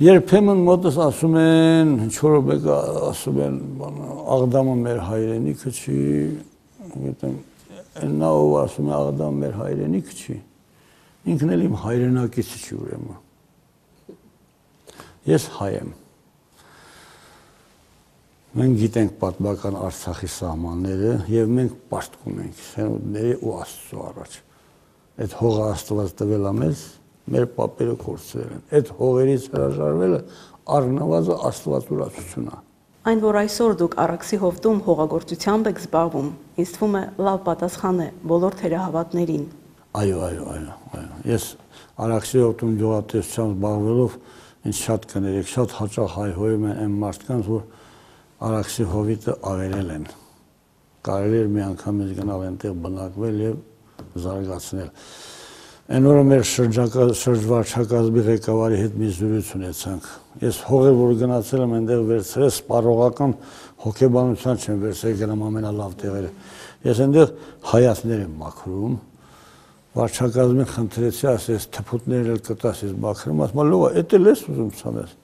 Երբեմն մոտս ասում են, ինչ-որ մեկ ասում են, Աղդամը մեր հայրենիքը չի, գիտեմ, նա ով ասում է Աղդամը մեր հայրենիքը չի, ինքն էլ իմ հայրենակիցը չի ուրեմն։ Ես հայ եմ։ Մենք գիտենք պատմական Արցախի սահմանները եւ մենք պաշտպանում ենք սերունդների ու Աստծո առաջ։ Այդ հողը Աստված տվել է մեզ, մեր պապերը կորցրել են։ Այդ հողերից հրաժարվելը առնվազն աստվածուրացություն է։ Այն, որ այսօր դուք Արաքսի հովտում հողագործությամբ եք զբաղվում, ինձ թվում է լավ պատասխան է բոլոր թերահավատներին։ Այո։ Ես Արաքսի հովտում գյուղատնտեսությամբ զբաղվելով ինձ շատ կներեք, շատ հաճախ հայհոյում են այն մարդկանց, որ Արաքսի հովիտը ավերել են։ Կարելի էր մի անգամ ես գնալ այնտեղ բնակվել եւ զարգացնել։ Այն օրը մեր շրջվարչակազմի ղեկավարի հետ մի զրույց ունեցանք։ Ես հողը, որ գնացել եմ այնտեղ վերցրել, սպառողական հոգեբանության չեմ վերցրել, գնամ ամենալավ տեղերը։ Ես այնտեղ հայացքներ եմ մաքրում։ Վարչակազմին խնդրեցի, ասես թփուտներն էլ կտաս ես մաքրում, ասում եմ, լավ, էդ էլ ես ուզում ցանես։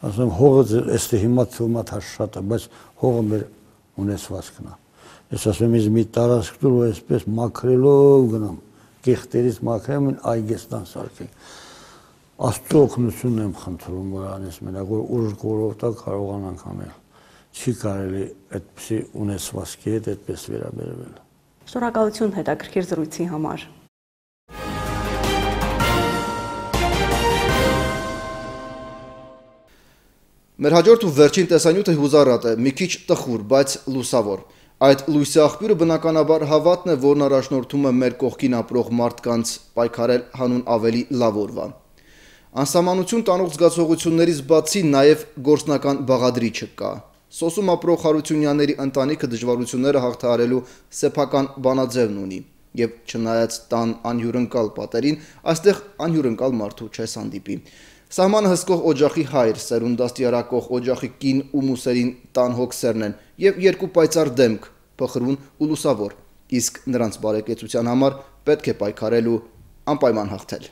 Ասում եմ, հողը էստե հիմա թվում է շատ է, բայց հողը մեր ունեցվածքն է։ Ես ասում եմ, մի տարածք դուր ու այսպես մաքրելով գնամ, կեղտերից մաքրեմ, այգեստան սարքենք։ Աստծո օգնությունն եմ խնդրում նրանից մենակ, որ ուժ կորովտա կարողանանք անել։ Չի կարելի այդպիսի ունեցվածքի հետ այդպես վերաբերվել։ Շնորհակալություն հետաքրքիր զրույցի համար։ Մեր հաջորդ ու վերջին տեսանյութը հուզառատ է, մի քիչ տխուր, բայց լուսավոր։ Այդ լույսի աղբյուրը բնականաբար հավատն է, որն առաջնորդում է մեր կողքին ապրող մարդկանց պայքարել հանուն ավելի լավ օրվա։ Անսահմանություն տանող զգացողություններից բացի նաև գործնական բաղադրիչը կա։ Սոսում ապրող Հարությունյանների ընտանիքը դժվարությունները հաղթահարելու սեփական բանաձևն ունի, եւ չնայած տան անհյուրընկալ պատերին, այստեղ անհյուրընկալ մարդու չես հանդիպի։ Սահմանը հսկող օջախի հայր, սերունդաստիարակող օջախի կին ու մուսերին տան հոգսերն են եւ երկու պայծառ դեմք, փխրուն ու լուսավոր, իսկ նրանց բարեկեցության համար պետք է պայքարել ու անպայման հաղթել։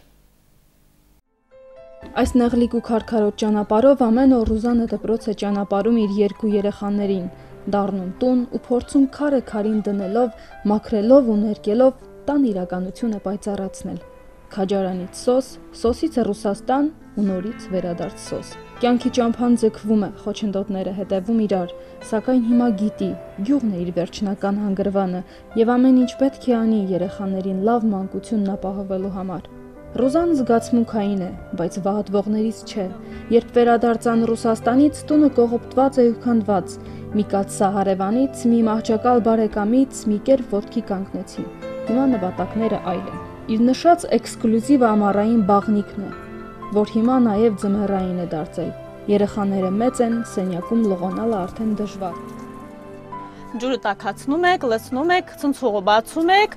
Այս նեղլիկ ու քարքարոտ ճանապարհով ամեն օր Ռուզանը դպրոց է ճանապարհում իր երկու երեխաներին, դառնում տուն ու փորձում քարը քարին դնելով, մաքրելով ու ներկելով տան իրականությունը պայծառացնել։ Քաջարանից սոս, սոսից է Ռուսաստան ու նորից վերադարձ սոս։ Կյանքի ճամփան ձգվում է, խոչընդոտները հետևում իրար, սակայն հիմա գիտի, գյուղն է իր վերջնական հանգրվանը եւ ամեն ինչ պետք է անի երեխաներին լավ մանկությունն ապահովելու համար։ Ռուզան զգացմունքային է, բայց վհատվողներից չէ։ Երբ վերադարձան Ռուսաստանից, տունը կողոպտված է ու քանդված։ Մի կաթ Սահարևանից, մի մահճակալ բարեկամից, մի կերպ ոտքի կանգնեցին։ Հիմա նվատակները այլ են։ Իր նշած էքսկլյուզիվ ամառային բաղնիքն է, որ հիմա նաև ձմեռային է դարձել։ Երեխաները մեծ են, սենյակում լողանալը արդեն դժվար։ Ջուրը տաքացնում եք, լցնում եք, ցնցողը բացում եք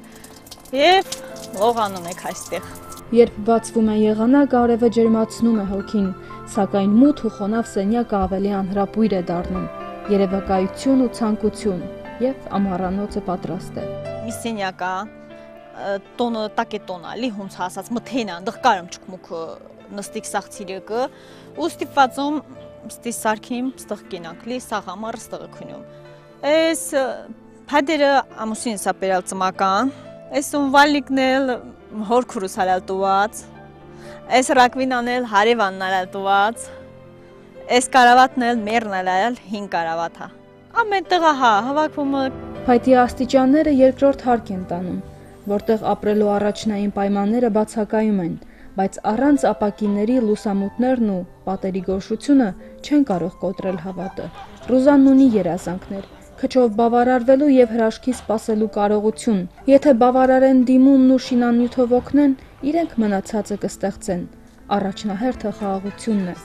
եւ լողանում եք այստեղ։ Երբ բացվում է եղանակ, արևը ջերմացնում է հոգին, սակայն մութ ու խոնավ սենյակը ավելի անհրապույր է դառնում, երևակայություն ու ցանկություն, եւ ամառանոցը պատրաստ է։ Մի սենյակա տոնը տակե տոնալի հունց հասած մթենա դղ կարım չկմուք նստիկ սաղցիրեկը ու ստիպվածում ստի սարքիմ ստղ կենանքլի սաղ ամառ ստղը քնյում այս փադերը ամուսին սապերալ ծմական այս ումվալիկնել հոր քուրուս հալալ տուված այս ռակվինանել հարևանն հալալ տուված այս կարավատնել մերն հալալ հին կարավաթա ամեն տեղը հավաքվում փայտի աստիճանները երկրորդ հարկ են տանում որտեղ ապրելու առաջնային պայմանները բացակայում են, բայց առանց ապակիների լուսամուտներն ու պատերի գորշությունը չեն կարող կոտրել հավատը։ Ռուզանն ունի երազանքներ, քչով բավարարվելու եւ հրաշքի սպասելու կարողություն։ Եթե բավարարեն դիմումն ու շինանյութով օգնեն, իրենք մնացածը կստեղծեն։ Առաջնահերթը խաղաղությունն է։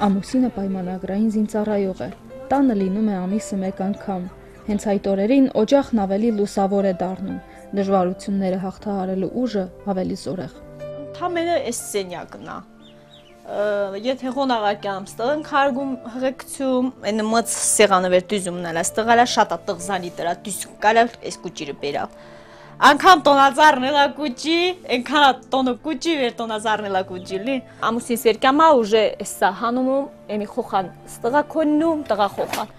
Ամուսինը պայմանագրային զինծառայող է։ տանը լինում է ամիսը մեկ անգամ։ Հենց այդ օրերին օջախն ավելի լուսավոր է դառնում, դժվարությունները հաղթահարելու ուժը ավելի զորեղ։ Թամենը էս սենյակն է։ Եթե ղոնաղակյամ ստղն քարգում հղեկցում, այն մած սեղանը վեր դույզումն էլ, ստղալա շատ է տղզանի դրա դույզում կարալ էս կուճիրը բերալ։ Անգամ տոնազարն էլա կուճի, ենքան տոնը կուճի վեր տոնազարն էլա կուճի լի։ Ամուսին սերկյամա ուժե էսա հանումում, էմի խոխան ստղա կոննում, տղա խոխան։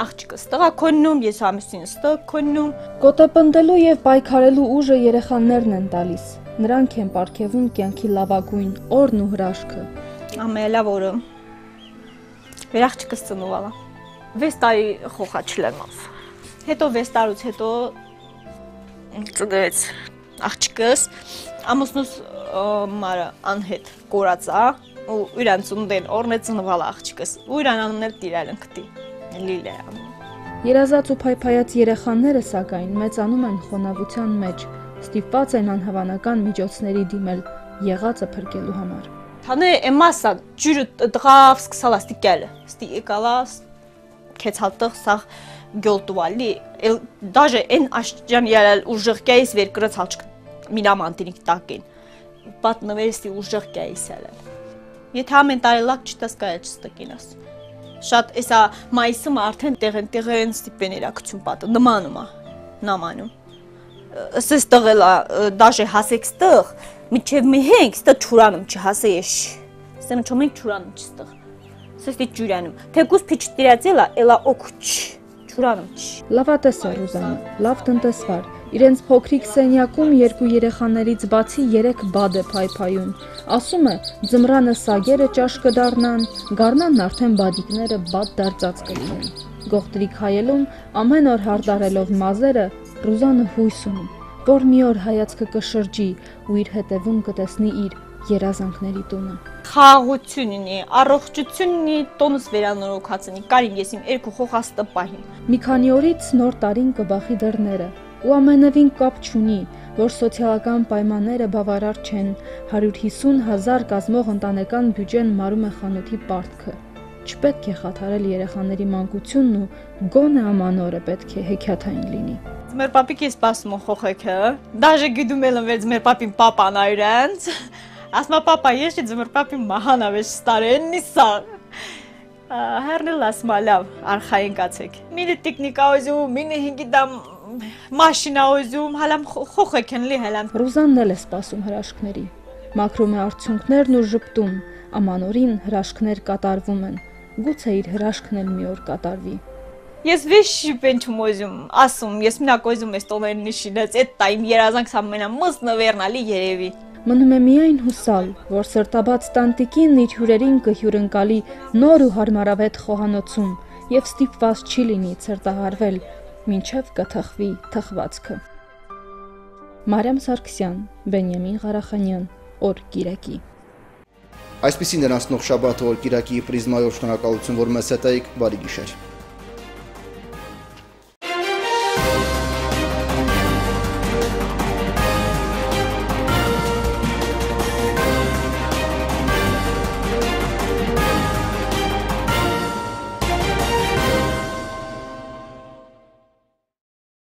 Աղջիկը ստղա կոննում, ես ամուսին ստղ կոննում։ Կոտեպնդելու եւ պայքարելու ուժը երեխաներն են տալիս։ Նրանք են պարգևում կյանքի լավագույն օրն ու հրաշքը։ Ամենալավ օրը վերաղջիկս ծնուվալա։ 6 տարի խոխա չլեմավ։ Հետո 6 տարուց հետո ծնվեց աղջիկս, ամուսնուս մարը անհետ կորածա ու իրան ծնունդեն օրն է ծնվալա աղջիկս ու իրան անունն էլ տիրալ ընկտի, լիլ է անում։ Երազած ու փայփայած երեխաները սակայն մեծանում են խոնավության մեջ, ստիպված են անհավանական միջոցների դիմել եղածը փրկելու համար։ Թանը էմասա ջուրը դղավ սկսալա ստիկելը, ստի եկալա քեցալ տղ սաղ գոլտուալի, դաժե են աշճան յարալ ուժեղ կայիս վեր կրած հալչկ մինամանտինիկ տակին, պատնվերստի ուժեղ կայիս յարալ։ Եթե ամեն տարելակ չտաս կայա չստկինաս։ Շատ էսա մայիսում արդեն տեղեն ստիպեն երակություն պատը, նմանում։ Սես տղելա դաժե հասեք ստղ, միչև մի հենք ստղ չուրանում չհասե ես, ստեմ չոմենք չուրանում չստղ, սեստի ջուրանում, թեկուս պիչ տիրացելա, էլա օքուչ, չուրանում չի։ Լավատես է Ռուզանը, լավ տնտեսվար, իրենց փոքրիկ սենյակում երկու երեխաներից բացի 3 բադ է փայփայում, ասում է ձմռանը սագերը ճաշ կդառնան, գարնանն արդեն բադիկները բադ դարձած կլինեն։ Գողտրիկ հայելում ամեն օր հարդարելով մազերը Ռուզանը հույս ունի, որ մի օր հայացքը կշրջի ու իր հետևում կտեսնի իր երազանքների տունը։ Խաղաղություն ունի, առողջություն ունի, տոնս վերանորոգացնի, կարիմ ես իմ 2 խոխաստը պահիմ։ Մի քանի օրից նոր տարին կբախի դռները ու ամենևին կապ չունի, որ սոցիալական պայմանները բավարար չեն, 150,000 կազմող ընտանեկան բյուջեն մարում է խանութի պարտքը։ Չպետք է խաթարել երեխաների մանկությունն ու գոնե ամանորը պետք է հեքիաթային լինի։ Ձմեր պապիկ ես սպասում ու խոխեքը, դաժե գդում էլ ընվեր ձմեր պապին պապան այրանց, ասմա պապա ես ձմեր պապին մահան ավեշ ստարեն նիսա, հերնել ասմա լավ, արխային կացեք, մինը տիկնիկա ոզում, մինը հինգի դամ մաշինա ոզում, հալամ խոխեքեն լի հելամ։ Ռուզանն էլ է սպասում հրաշքների, մաքրում է արդյունքներն ու ժպտում, ամանորին հրաշքներ կատարվում են, գուցե իր հրաշքն էլ մի օր կատարվի։ Ես վեշ շիպեն չում ոզում, ասում, ես մնակ ոզում ես տոներն նիշինեց, էտ տայմ երազանքս ամենա մս նվերնալի երևի։ Մնում է միայն հուսալ, որ սրտաբաց տանտիկին իր հյուրերին կհյուրընկալի նոր ու հարմարավետ խոհանոցում և ստիպված չի լինի ցրտահարվել, մինչև կթխվի թխվածքը։ Մարիամ Սարգսյան, Բենյամին Ղարախանյան, օր կիրակի։ Այսպիսին նրանցնող շաբաթ օր կիրակի պրիզմայով շնորհակալություն, որ մեզ հետ էիք, բարի գիշեր։